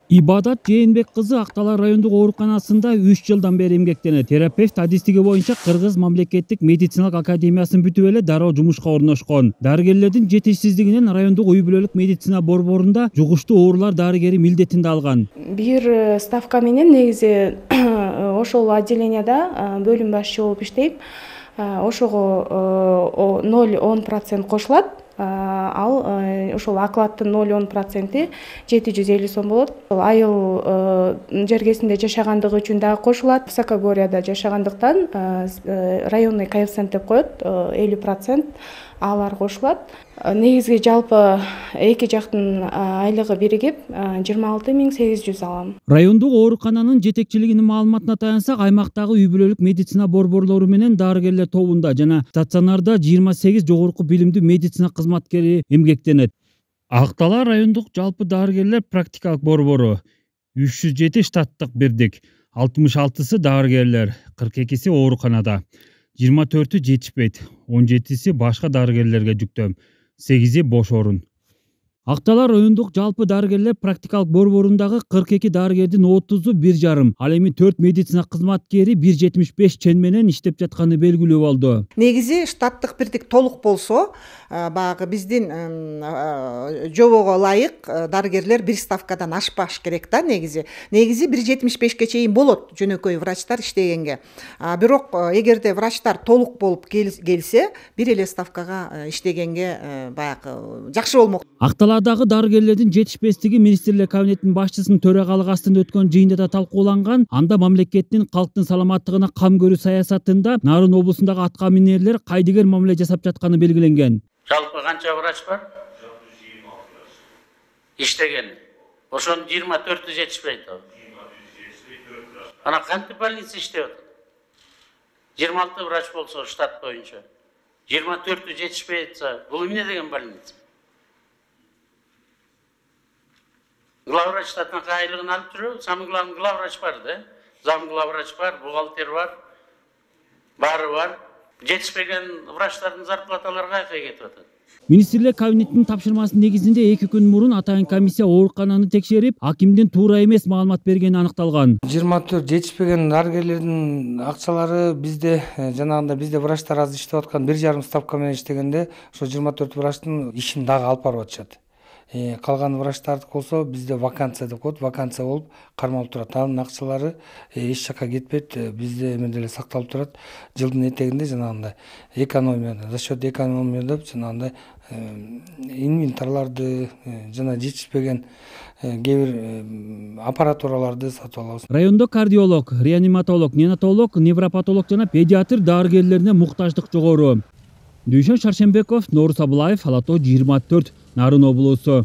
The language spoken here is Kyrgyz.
Ибадат Жээнбек кызы Актала райондук ооруканасында 3 жылдан бери эмгектенет. Терапевт адистиги боюнча Кыргыз мамлекеттик медициналык академиясын бүтүп эле дароо жумушка орношкон. Дарыгерлердин жетишсиздигинен райондук үй бүлөлүк медицина борборунда жугуштуу оорулар дарыгери милдетинде алган. Бир ставка менен негизи ошол отделенияда бөлүм башчы болуп иштейм. Ошого 0,10% кошулат. Ал ошол окладдын 0,10% 750 сом болот. Айыл жергесинде жашагандыгы үчүн дагы кошулат. Высокогорьяда жашагандыктан районный коэффициент деп коет, 50% алар кошулат. Негизги жалпы эки жактын айлыгы биригип 26,800 алам. Райондук оорукананын жетекчилигинин маалыматына таянсак, аймактагы үй бүлөлүк медицина борборлору менен дарыгерлер тобунда жана стационарда 28 жогорку билимдүү медицина кызматкери эмгектенет. Актала райондук жалпы дарыгерлер практикалык борбору 307 штаттык бирдик, 66сы дарыгерлер, 42си ооруканада, 24-ü жетишпейт, 17-си башка дарыгерлерге жүктөм, 8-и бош орун. Актала райондук жалпы дарыгерлер практикалык борборундагы 42 дарыгердин 30-у 1,5, ал эми 4 медицина кызматкери 1,75 чен менен иштеп жатканы белгилүү болду. Негизи штаттык бирдик толук болсо, баягы биздин жобого ылайык дарыгерлер бир ставкадан ашпаш керек да негизи. Негизи 1,75ке чейин болот жөнөкөй врачтар иштегенге. Бирок эгерде врачтар толук болуп келсе, бир эле ставкага иштегенге баягы жакшы болмок. Акталадагы дарыгерлердин жетишпестиги министрлер кабинетинин башчысынын төрагалыгы астында өткөн жыйында да талкууланган. Анда мамлекеттин калктын саламаттыгына кам көрүү саясатында Нарын облусундагы атка минерлер кайдыгер мамиле жасап жатканы белгиленген. Жалпы канча врач бар? Иштеген. Ошонун 24-ü жетишпейт. Ана кантип больница иштеп атат? 26 врач болсо штат боюнча, 24-ü жетишпей атса, бул эмне деген больница? Главврач штатына айлыгын алып жүрөбү, самый главный главврач бар да, зам главврач бар, бухгалтер бар, баары бар. Жетишпеген врачтардын зарплаталары кайка кетип атат. Министрлер кабинетинин тапшырмасынын негизинде 2 күн мурун атайын комиссия оорукананы текшерип, акимдин туура эмес маалымат бергени аныкталган. 24 жетишпеген дарыгерлердин акчалары бизде жанагында бизде врачтар аз иштеп аткан 1,5 ставка менен иштегенде, ошо 24 врачтын ишин дагы алып барып атышат. Калган врачтардык болсо бизде вакансия деп коет, вакансия болуп кармалып турат. Анын акчалары эч жакка кетпейт, бизде эме деле сакталып турат. Жылдын этегинде жанагындай экономия, за счет экономия деп жанагындай инвентарларды жана жетишпеген кээ бир аппаратураларды сатып алабыз. Райондо кардиолог, реаниматолог, неонатолог, невропатолог жана педиатр дарыгерлерине муктаждык жогору. Дүйшөн Шаршембеков, Норус Абылаев, Ала Тоо 24, Нарын облусу.